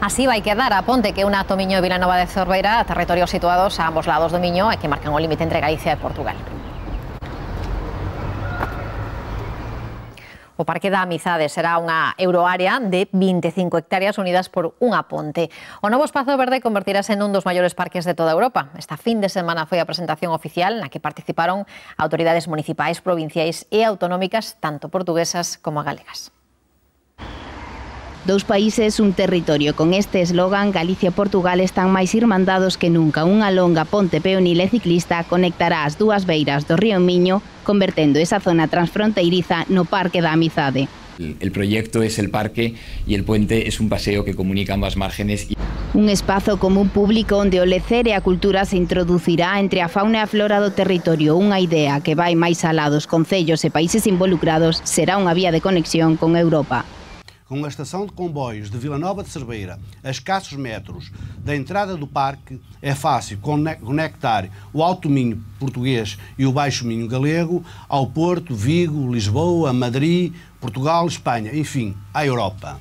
Así vai quedar a ponte que una Tomiño e Vilanova de Cerveira, territorios situados a ambos lados do Miño e que marcan o límite entre Galicia e Portugal. O Parque da Amizade será unha euroárea de 25 hectáreas unidas por unha ponte. O novo espazo verde convertirase nun dos maiores parques de toda Europa. Esta fin de semana foi a presentación oficial na que participaron autoridades municipais, provinciais e autonómicas, tanto portuguesas como galegas. Dous países, un territorio. Con este eslogan, Galicia e Portugal están máis irmandados que nunca. Unha longa ponte peonil e ciclista conectará as dúas beiras do río Miño, convertendo esa zona transfronteiriza no Parque da Amizade. El proyecto es el parque y el puente es un paseo que comunica ambas márgenes. Un espazo común público onde o lecer e a cultura se introducirá entre a fauna e a flora do territorio. Unha idea que vai máis alá dos concellos e países involucrados, será unha vía de conexión con Europa. Com a estação de comboios de Vila Nova de Cerveira, a escassos metros da entrada do parque, é fácil conectar o Alto Minho português e o Baixo Minho galego ao Porto, Vigo, Lisboa, Madrid, Portugal, Espanha, enfim, à Europa.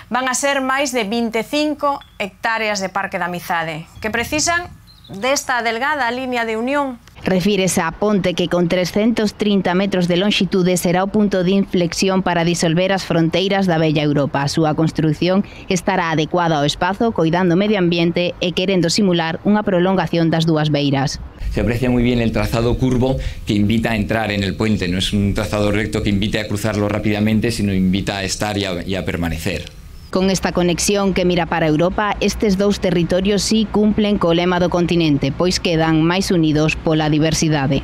Van a ser máis de 25 hectáreas de Parque da Amizade, que precisan desta delgada línea de unión. Refírese á ponte que con 330 metros de longitude será o punto de inflexión para disolver as fronteiras da bella Europa. A súa construción estará adecuada ao espazo, coidando o medio ambiente e querendo simular unha prolongación das dúas beiras. Se aprecia muy bien el trazado curvo que invita a entrar en el puente. No es un trazado recto que invite a cruzarlo rápidamente, sino invita a estar y a permanecer. Con esta conexión que mira para Europa, estes dous territorios sí cumplen co lema do continente, pois quedan máis unidos pola diversidade.